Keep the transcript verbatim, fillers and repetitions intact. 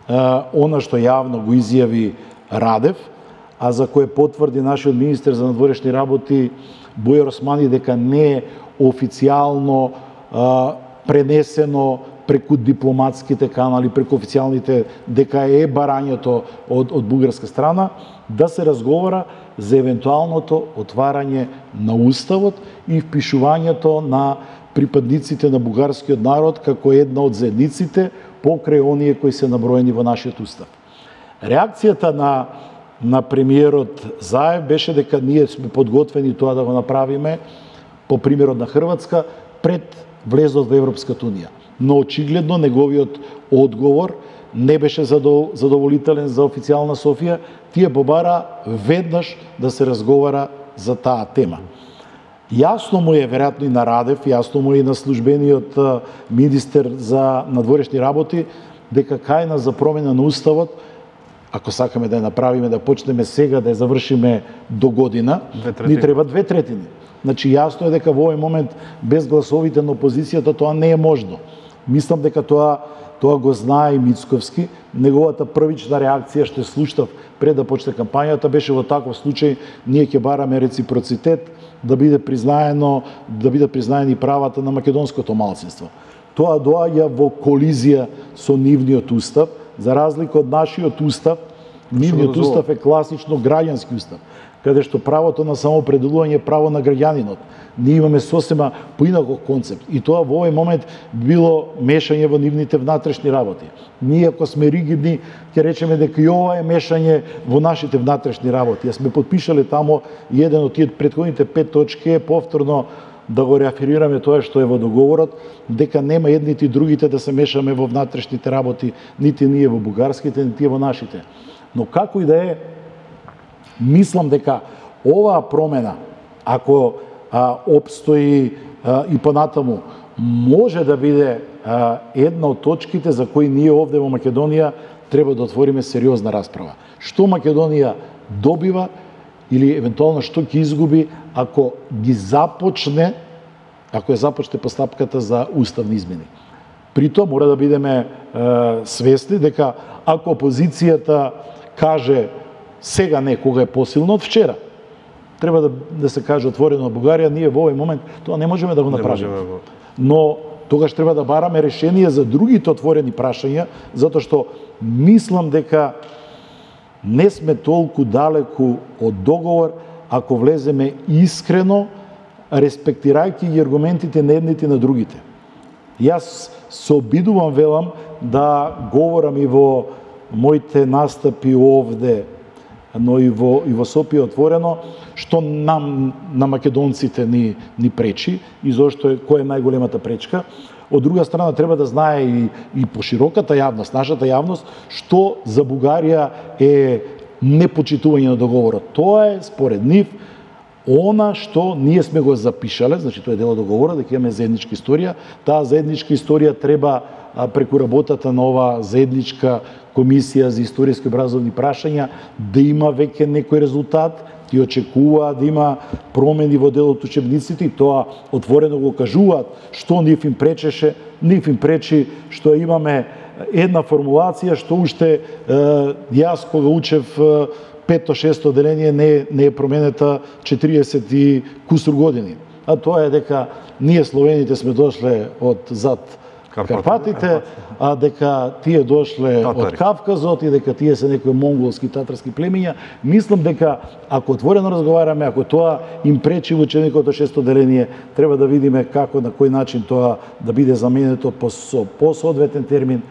она што јавно го изјави Радев, а за кое потврди нашиот министер за надворешни работи Бојар Османи дека не е официјално а, пренесено преку дипломатските канали, преку официјалните, дека е барањето од, од бугарска страна, да се разговара за евентуалното отварање на Уставот и впишувањето на припадниците на бугарскиот народ како една од заедниците покрај оние кои се наброени во нашиот Устав. Реакцијата на, на премиерот Заев беше дека ние сме подготвени тоа да го направиме по примерот на Хрватска пред влезот во Европската унија. Но очигледно неговиот одговор не беше задоволителен за официјална Софија, тие побара веднаш да се разговара за таа тема. Јасно му е, веројатно и на Радев, јасно му е и на службениот министер за надворешни работи, дека кајна за промена на Уставот, ако сакаме да ја направиме, да почнеме сега, да ја завршиме до година, ни треба две третини. Значи, јасно е дека во овој момент, без гласовите на опозицијата, тоа не е можно. Мислам дека тоа Тоа го знае и Мицковски. Неговата првична реакција, што слуштав пред да почне кампањата, беше во таков случај ние ќе бараме реципроцитет, да биде признаено, да биде признаени правата на македонското малцинство. Тоа доаѓа во колизија со нивниот устав, за разлика од нашиот устав. Нивниот устав е класично граѓански устав, каде што правото на самоопределување е право на граѓанинот. Ние имаме сосема поинаков концепт и тоа во овој момент било мешање во нивните внатрешни работи. Ние ако сме ригидни, ќе речеме дека и ова е мешање во нашите внатрешни работи. Ја сме подпишале тамо и еден од тие претходните пет точки е повторно да го реафирираме тоа што е во договорот, дека нема едните и другите да се мешаме во внатрешните работи, нити ние во бугарските, нити во нашите. Но како и да е, мислам дека оваа промена, ако а, обстои а, и понатаму, може да биде а, една од точките за кои ние овде во Македонија треба да отвориме сериозна расправа. Што Македонија добива или евентуално што ќе изгуби ако ги започне, ако ја започне постапката за уставни измени. При тоа мора да бидеме е, свесни дека ако опозицијата каже сега не, кога е посилно од вчера, треба да, да се каже отворено од Бугарија, ние во овој момент тоа не можеме да го направиме. Но тогаш треба да бараме решение за другите отворени прашања, затоа што мислам дека не сме толку далеку од договор ако влеземе искрено, респектирајќи ги аргументите на едните и на другите. Јас се обидувам, велам, да говорам и во моите настапи овде, но и во, и во Сопија отворено, што нам, на македонците ни, ни пречи и зошто е, која е најголемата пречка. Од друга страна, треба да знае и, и пошироката јавност, нашата јавност, што за Бугарија е непочитување на договорот. Тоа е, според нив, она што ние сме го запишале, значи тоа е дел од договорот, дека имаме заедничка историја. Таа заедничка историја треба преку работата на оваа заедничка комисија за историски образовни прашања да има веќе некој резултат, ти очекува да има промени во дел од учебниците и тоа отворено го кажуваат што нив им пречеше, нив им пречи што имаме една формулација што уште е, јас кога учев пето-шесто деление не, не е променета четириесет и кусур години. А тоа е дека ние словените сме дошле од зад Карпатите, а дека тие дошле Татари. Од Кавказот и дека тие се некои монголски татарски племиња. Мислам дека ако отворено разговараме, ако тоа им пречи во ученикот од шесто деление, треба да видиме како, на кој начин тоа да биде заменето по, по соодветен термин.